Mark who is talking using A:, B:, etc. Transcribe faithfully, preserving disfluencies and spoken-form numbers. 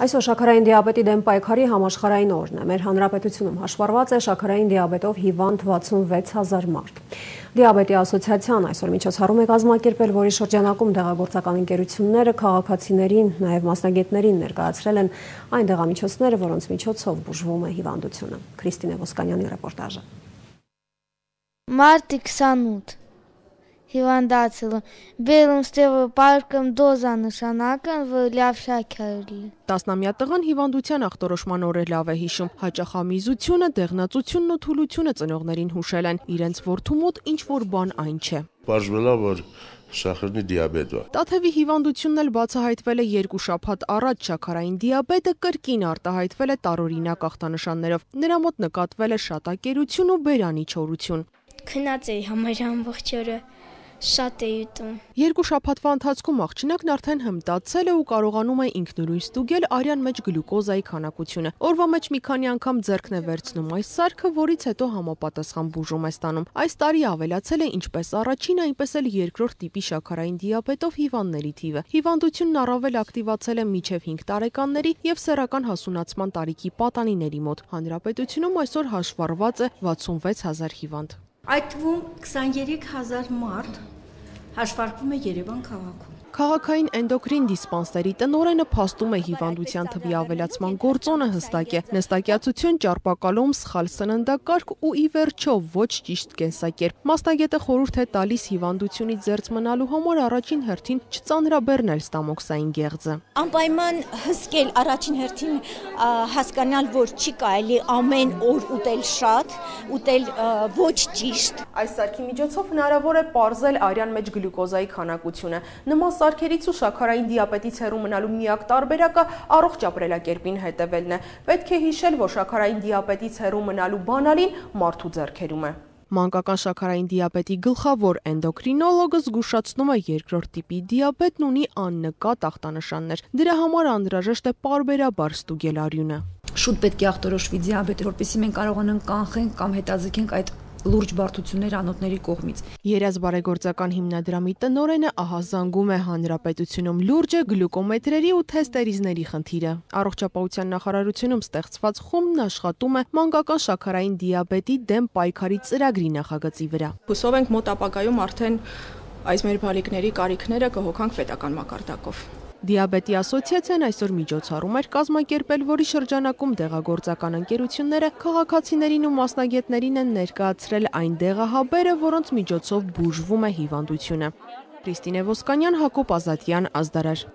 A: Այսօր շաքարային դիաբետի դեմ պայքարի համաշխարհային օրն է։ Մեր հանրապետությունում հաշվառված է շաքարային դիաբետով հիվանդ վաթսունվեց հազար մարդ։ Դիաբետի ասոցիացիան այսօր միջոցառում է կազմակերպել, որի շրջանակում դեղագործական ընկերությունները քաղաքացիներին, նաև մասնագետներին ներկայացրել են այն դեղամիջոցները, որոնց միջոցով բուժվում է հիվանդությունը։ Քրիստինե Ոսկանյանի ռեպորտաժը։
B: Մարտի քսանութ հիվանդացել եմ, բերում ստեղը պարկում դոզա նշանակն, որ լավ շաքար լի։
C: Տասնամյա տղան հիվանդության ախտորոշման օրը լավ է հիշում, հաճախամիզությունը, դեղնածությունն ու թուլությունը ծնողներին հուշել են, իրենց որդու մոտ ինչ-որ բան այն չէ։
D: Պարզվել է, որ շաքարի դիաբետ է։
C: Տաթևի հիվանդությունն էլ բացահայտվել է երկու շաբաթ առաջ, շաքարային դիաբետը կրկին արտահայտվել է տարօրինակ ախտանշաններով։ Նրա մոտ նկատվել է շատակերություն ու բերանի չորություն։
E: Քնած էի համարյա ամբողջ օրը, շատ էի ուտում։
C: Երկու շաբաթվա ընթացքում աղջնակն արդեն հմտացել է ու կարողանում է ինքնուրույն ստուգել արյան մեջ գլյուկոզայի քանակությունը։ Օրվա մեջ մի քանի անգամ ձեռքն է վերցնում այս սարքը, որից հետո համապատասխան բուժում է ստանում։ Այս տարի ավելացել է ինչպես առաջին, այնպես էլ երկրորդ տիպի շաքարային դիաբետով հիվանդների թիվը։ Հիվանդությունն առավել ակտիվացել է մինչև հինգ տարեկանների եւ սեռական հասունացման տարիքի պատանիների մոտ։ Հանրապետությունում այսօր հաշվառված է վաթսունվեց հազար հիվանդ։
F: Այդ թվում քսաներեք հազար մարդ հաշվարկվում է Երևան քաղաքում։
C: Քաղաքային էնդոկրին դիսպանսերի տնօրենը փաստում է հիվանդության թվի ավելացման գործոնը հստակ է։ Նստակյացություն, ճարպակալում, սխալ սննդակարգ ու ի վերջո ոչ ճիշտ կենսակերպ։ Մասնագետը խորհուրդ է տալիս հիվանդությունից զերծ մնալու համար առաջին հերթին չծանրաբեռնել ստամոքսային գեղձը։
F: Անպայման հսկել առաջին հերթին հասկանալ, որ չի կարելի ամեն օր ուտել շատ, ուտել ոչ ճիշտ։
C: Այս սարքի միջոցով հնարավոր է պարզել արյան մեջ գլյուկոզայի քանակությունը։ Նման սարքերից ու շաքարային դիաբետից հեռու մնալու միակ տարբերակը առողջ ապրելակերպին հետևելն է։ Պետք է հիշել, որ շաքարային դիաբետից հեռու մնալու բանալին մարդու ձեռքերում է։ Մանկական շաքարային դիաբետի գլխավոր էնդոկրինոլոգը զգուշացնում է երկրորդ տիպի դիաբետն ունի աննկատ ախտանշաններ։ Դրա համար անհրաժեշտ է պարբերաբար ստուգել արյունը։
G: Շուտ պետք է ախտորոշվի դիաբետը, որպեսզի մենք կարողանանք կանխենք կամ հետաձգենք այդ լուրջ բարդություններ անոթների կողմից։
C: Երազ բարեգործական հիմնադրամի տնօրենը ահազանգում է հանրապետությունում լուրջ է գլյուկոմետրերի ու թեստերիզների խնդիրը։ Առողջապահության նախարարությունում ստեղծված խումբն աշխատում է մանկական շաքարային դիաբետի դեմ պայքարի ծրագրի նախագծի վրա։
H: Հուսով ենք մոտ ապագայում արդեն այս մեր բալիկների կարիքները կհոգանք պետական մակարդակով։
C: Դիաբետի ասոցիացիան այսօր միջոցառում էր կազմակերպել, որի շրջանակում դեղագործական ընկերությունները քաղաքացիներին ու մասնագետներին են ներկայացրել այն դեղահաբերը, որոնց միջոցով բուժվում է հիվանդությունը։ Քրիստինե Ոսկանյան, Հակոբ Ազատյան, Ազդարար։